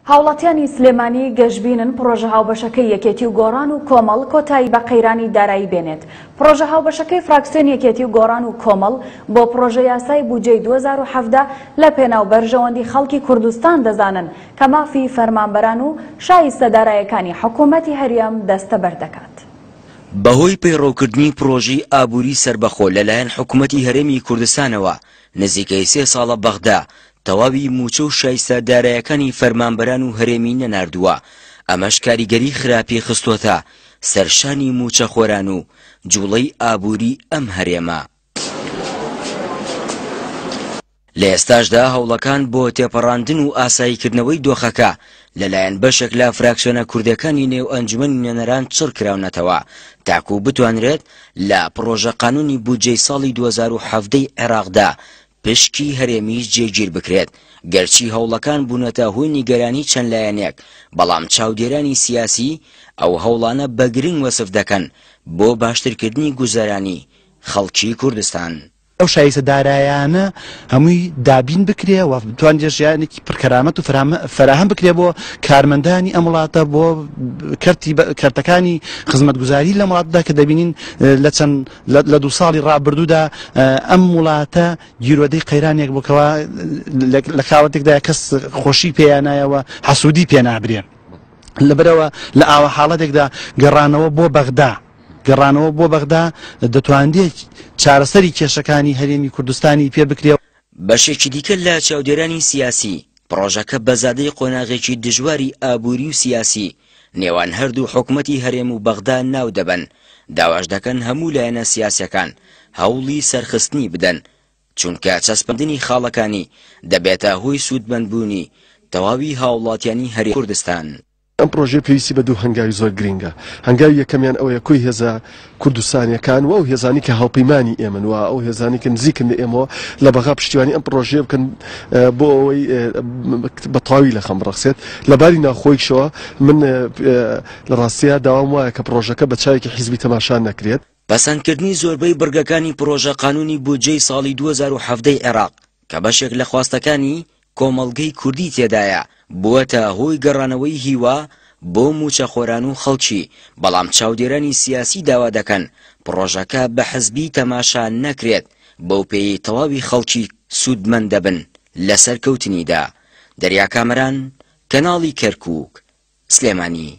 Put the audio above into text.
هاوڵاتیانی سلێمانی گەشبینن پڕۆژە هاوبەشەکەی یەکێتی و گۆڕان و کۆمەڵ کۆتایی بە قەیرانی دارایی بێنێت. پڕۆژە هاوبەشەکەی فراکسیۆنی یەکێتی و گۆڕان و کۆمەڵ بۆ پڕۆژە یاسای بودجەی 2017 لە پێناو بەرژەوەندی خەڵکی کوردستان دەزانن کە مافی فەرمانبەران و شایستە دارایەکانی حکومەتی هەرێم دەستەبەر دەکات. بەهۆی پەیڕەوکردنی پڕۆژەی ئابووری سەربەخۆ لەلایەن حکومەتی هەرێمی کوردستانەوە نزیکەی سێ ساڵە بەغدا تەواوی مووچە و شایستە دارایەکانی فەرمانبەران و هەرێمی نەناردووە، ئەمەش کاریگەری خراپی خستۆتە سەر شانی مووچەخۆران و جوڵەی ئابووری ئەم هەرێمە. لە ئێستاشدا هەوڵەکان بۆ تێپەڕاندن و ئاساییکردنەوەی دۆخەکە لەلایەن بەشێک لە فراکسیۆنە کوردەکانی نێو ئەنجومەنی نوێنەران چڕکراونەتەوە تاکو بتوانرێت لە پڕۆژە قانونی بودجەی ساڵی 2017 ی عێراقدا پشکی هەرێمیش جێگیر بکرێت، گەرچی هەوڵەکان بوونەتە هۆی نیگەرانی چەند لایەنێک، بەڵام چاودێرانی سیاسی ئەو هەوڵانە بە گرنگ وەسف دەکەن بۆ باشترکردنی گوزەرانی خەڵکی کوردستان. ئەو شایستە دارایانە هەمووی دابین بکرێ و بتوانرێت ژیانێکی پڕ کەرامەت و فەراهەم بکرێ بۆ کارمەندانی ئەم وڵاتە بۆ کەرتی کەرتەکانی خزمەتگوزاری لەم وڵاتدا کە دەبینین لە چەند لە دوو ساڵی ڕابردوودا ئەم وڵاتە گیرۆدەی قەیرانێک بوو کەوا لە کاوەتێکدا کەس خۆشی پێیانایەوە حەسوودی پێ نابرێ لەبەرەوە لە ئاوا حاڵەتێکدا گەڕانەوە بۆ بەغدا گەڕانەوە بۆ بەغدا دەتوانرێت چارەسەری کێشەکانی هەرێمی کوردستانی پێ بکرێ. بەشێکی دیکە لە چاودێرانی سیاسی، پڕۆژەکە بە زادەی قۆناغێکی دژواری ئابووری و سیاسی نێوان هەردوو حکومەتی هەرێم و بەغدا ناو دەبەن، داواش دەکەن هەموو لایەنە سیاسیەکان هەوڵی سەرخستنی بدەن، چونکە چەسپاندنی خاڵەکانی دەبێتە هۆی سوودمەندبوونی تەواوی هاوڵاتیانی هەرێمی کوردستان. ئەم پڕۆژەیە پێویستی بە دوو هەنگاوی زۆر گرینگە، هەنگاوی یەکەمیان ئەوەیە کۆی هێزە کوردستانیەکان و ئەو هێزانەی کە هاوپەیمانی ئێمەن و ئەو هێزانەی کە نزیکن لە ئێمەوە لە بەغا پشتیوانی ئەم پڕۆژەیە بکەن بۆ ئەوەی بە تەواوی لە خەم بڕەخسێت. لە باری ناوخۆیشەوە من لە ڕاستیا داوام وایە کە پڕۆژەکە بە چاوێکی حیزبی تەماشا نەکرێت. پەسەندکردنی زۆربەی بڕگەکانی پڕۆژە قانوونی بودجەی ساڵی 2017 ی عێراق کە بەشێک لە خواستەکانی کۆمەڵگەی کوردی تێدایە، بووەتە هۆی گەڕانەوەی هیوا بۆ مووچەخۆران و خەڵکی، بەڵام چاودێرانی سیاسی داوا دەکەن پڕۆژەکە بە حزبی تەماشا نەکرێت، بەوپێیەی تەواوی خەڵکی سوودمەند دەبن لە سەرکەوتنیدا. دەریا کامەران، کەناڵی کەرکووک، سلێمانی.